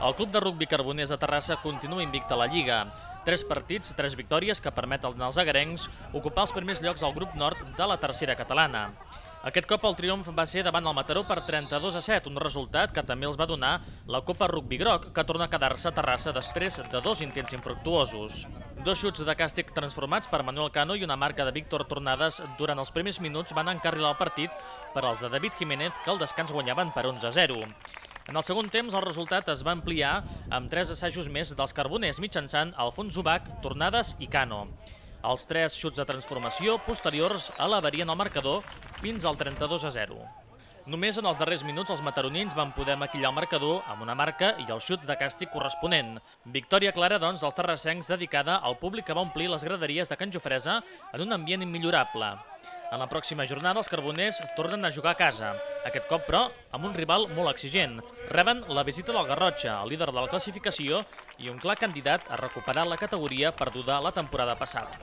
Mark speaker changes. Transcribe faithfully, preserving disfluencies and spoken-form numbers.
Speaker 1: El club de rugbi Carboners de Terrassa continua invicte a la Lliga. Tres partits, tres victòries que permeten als agarencs ocupar els primers llocs al grup nord de la tercera catalana. Aquest cop el triomf va ser davant el Mataró per trenta-dos a set, un resultat que també els va donar la Copa Rugbi Groc, que torna a quedar-se a Terrassa després de dos intents infructuosos. Dos xuts de càstig transformats per Manuel Cano i una marca de Víctor Tornades durant els primers minuts van encarrilar el partit per als de David Jiménez, que al descans guanyaven per onze a zero. En el segon temps, el resultat es va ampliar amb tres assajos més dels Carboners mitjançant Alfons Ubach, Tornades i Cano. Els tres xuts de transformació posteriors alabarien el marcador fins al trenta-dos a zero. Només en els darrers minuts els mataronins van poder maquillar el marcador amb una marca i el xut de càstig corresponent. Victòria clara, doncs, dels terrassencs dedicada al públic que va omplir les graderies de Can Jofresa en un ambient immillorable. En la pròxima jornada els Carboners tornen a jugar a casa, aquest cop però amb un rival molt exigent. Reben la visita del Garrotxa, el líder de la classificació i un clar candidat a recuperar la categoria perduda la temporada passada.